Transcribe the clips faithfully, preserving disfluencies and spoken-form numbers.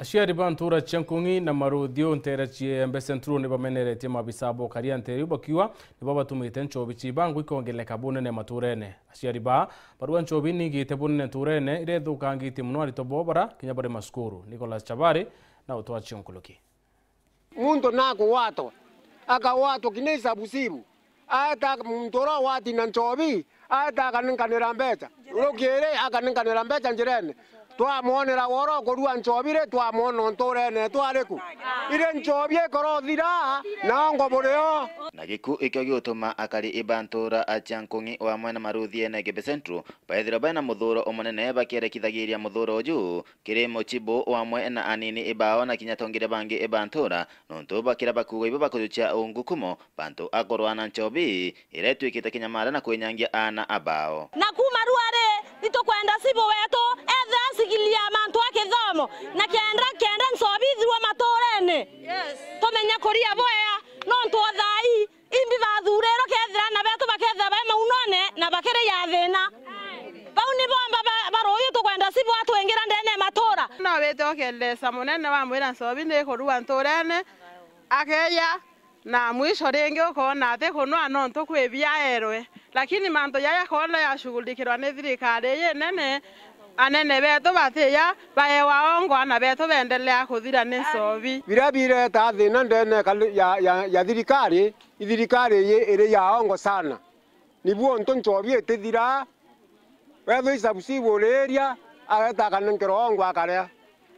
Aciari ba ntuura cia Nkung'i na Maruthiu nteere cia Embe Central ni bameneretie maabisa ba ukaria nteere iu bakiuga nibo batumite nchobi ciibangwa ikongeleka bunene matuurene. Aciari baa barua nchobi niigite bunene ntuurene iria ithukangitie mono aritwa boo bara kinya bari macukuru. Nicholas Chabari na utwacio nkuruki. Muntu nakugwatwa, akagwatwa kinya isabusibu, aeta muntu uria ugwati na nchobi, aeta akaninkanira mbeca, rukiri akaninkanira mbeca njirene. Twamwonera woro kurua nchobi ri, twamwona ntuurene etu ari ku? Iri nchobi ikorothira, na ongo burio. Na giku ikio giutuma akari iba ntuura acia Nkung'i wamwe na Maruthiene Embe Central baithirwa baina muthuuro umunene bakierekithagiria muthuuro uju kiri muchibu wamwe na anini ibao na kinya atongeria bangi iba ntuura, nontu bakira bakuuga ibo bakujukia ungukumo bantu akorwa na nchobi iria itwikite kinyamara na kwinyangia aana abao. Na kuuma rua ri, itukwenda cibu wetu ethira asikilia mantu a kithomo, na kenda kenda nchobi ithirwa matuurene, tumenye kuria bwea, nontu o thaa ii imbi bathurirwe kethira aana betu bakethira bai maunone na bakiriya thiina. Bau ni bomba ba, ba ruuyu tukwenda cibu atwingira ndene ya matuura. No wite ukelesa munene wamwira nchobi ni kurua ntuurene, akeya, na mwisho ringi ukoona ati kunwa nontu kwi biaerwe. Lakini mantu jaja koona yashughulikirwa ni thirikari iji nene, anene betu batiya baewa ongo, aana betu beendelea kuthira ni nchobi. Biria bireta thiina ndene ya, ya, ya thirikari, i thirikari iji iri ya ongo sana. Nibu untu nchobi itithiraa, wethwa isabusibu uriiria, ageeta akanenkerwa ongo akaria.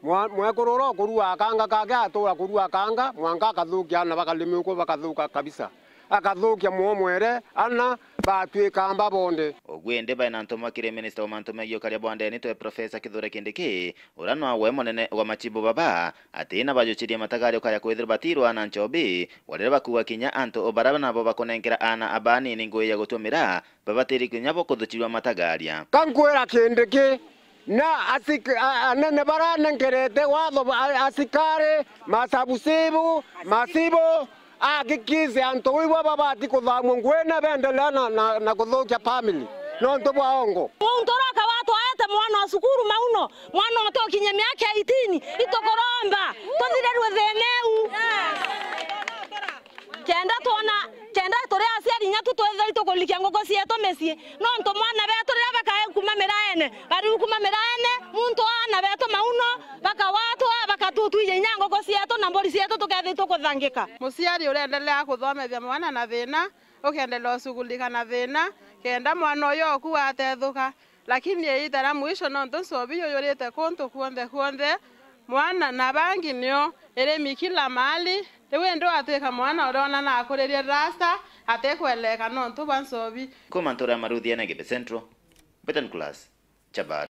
Mwa, mwekuru uria ukurua akanga kake atuura kurua akanga, mwanka akathukia aana bakarimi uku bakathuka kabisa. Akathukia mwomwere, aana batwika amba bonde. Ugu indi baina ntumwa kiri minista wa mantu megii ukaria bwa ndene twe Professor Kithure Kindiki, uria nwawe munene wa machibu baba, ati na bajuchirie matagario kaya kwithirwa batirwa na nchobi, wa riria bakuuga kinya antu o baria nabo bakunenkera aana abanini ngui ya gutumira, babatiri kinya bo kuthuchirwa matagaria. Ka nkwira Kindiki, na asik, a, anene baria nenkerete watho, a, asikari, masabusibu, machibu, ahakikishe antu ibo babati kuthamua ngui na beendelea na, na, na kuthukia family nontu bwa ongo. Muntu uria akawatwa aete mwana o cukuru mauno, mwana utukinye miaka eighteen, itukuromba tuthirirue thiina iu. Kenda twona, kenda turi aciari inya tu twithira itukurikia nguku cietu micii, nontu mwana betu riria bakae kuuma miraene, bariu kuuma miraene, muntu aana betu mauno, bakawatwa, bakatutwija inya nguku cietu na mburi cietu tukethira itukuthangika. Muciari ureendelea kuthomethia mwana na thiina, ukeendelea ucugulika na thiina, kenda mwana uyu oku atethuka. Lakini iita ria mwisho, nontu nchobi yuyurite kuntu kuonthe kuonthe, mwana na bangi nio irimi kila mahali, riu indi watwika mwana uria ona nakuririe rasta atikweleka nontu bwa nchobi. Kuuma ntuura ya Maruthiene Embe Central, Betan Class, Chabari.